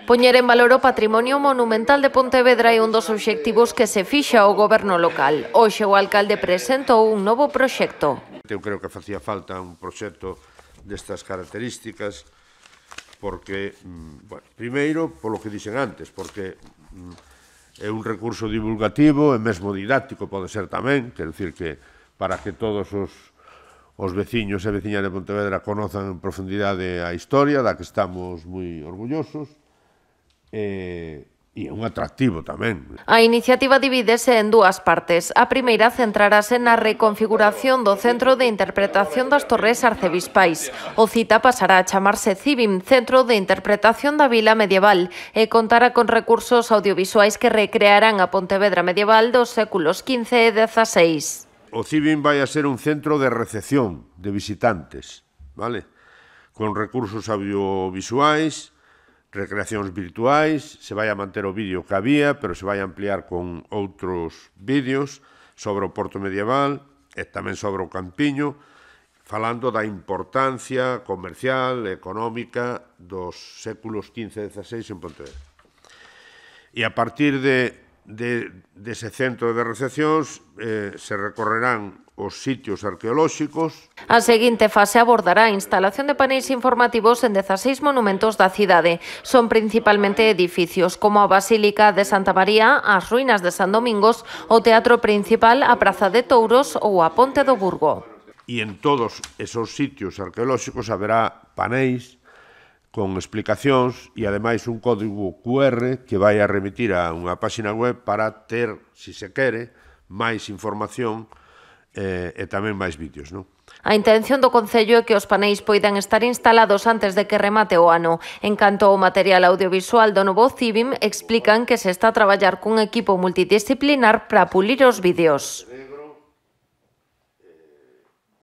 Poñer en valor o patrimonio monumental de Pontevedra é un dos obxectivos que se fixa o goberno local. Hoxe o alcalde presentou un novo proxecto. Eu creo que facía falta un proxecto destas características porque, bueno, primeiro, polo que dixen antes, porque é un recurso divulgativo e mesmo didáctico pode ser tamén, quer dicir que para que todos os veciños e veciñas de Pontevedra conozan en profundidade a historia, da que estamos moi orgullosos, e é un atractivo tamén. A iniciativa divídese en dúas partes. A primeira centrarase na reconfiguración do Centro de Interpretación das Torres Arcebispais. O cita pasará a chamarse CIVIM, Centro de Interpretación da Vila Medieval, e contará con recursos audiovisuais que recrearán a Pontevedra medieval dos séculos XV e XVI. O CIVIM vai a ser un centro de recepción de visitantes, vale? Con recursos audiovisuais, recreacións virtuais, se vai a manter o vídeo que había, pero se vai a ampliar con outros vídeos sobre o Porto medieval e tamén sobre o Campiño, falando da importancia comercial e económica dos séculos XV e XVI en Pontevedra. E a partir dese centro de recepcións se recorrerán os sitios arqueolóxicos. A seguinte fase abordará a instalación de paneis informativos en 16 monumentos da cidade. Son principalmente edificios como a Basílica de Santa María, as ruínas de San Domingos, o Teatro Principal, a Praza de Touros ou a Ponte do Burgo. E en todos esos sitios arqueolóxicos haberá paneis con explicacións e, ademais, un código QR que vai a remitir a unha páxina web para ter, se se quere, máis información e tamén máis vídeos, non? A intención do Concello é que os paneis poidan estar instalados antes de que remate o ano. En canto ao material audiovisual do novo CIVIM, explican que se está a traballar cun equipo multidisciplinar para pulir os vídeos.